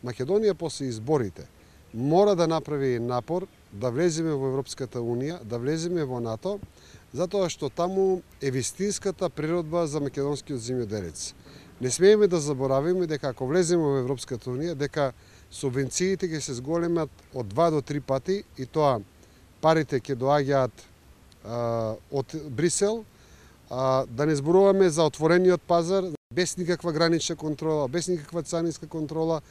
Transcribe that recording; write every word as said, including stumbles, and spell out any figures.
Македонија после изборите мора да направи напор да влеземе во Европската Унија, да влеземе во НАТО, затоа што таму е вистинската природба за македонскиот земјоделец. Не смееме да заборавиме дека ако влеземе во Европската Унија, дека субвенциите ќе се зголемат од два до три пати и тоа парите ќе доаѓаат од Брисел, а, да не зборуваме за отворениот пазар, без никаква гранична контрола, без никаква царинска контрола,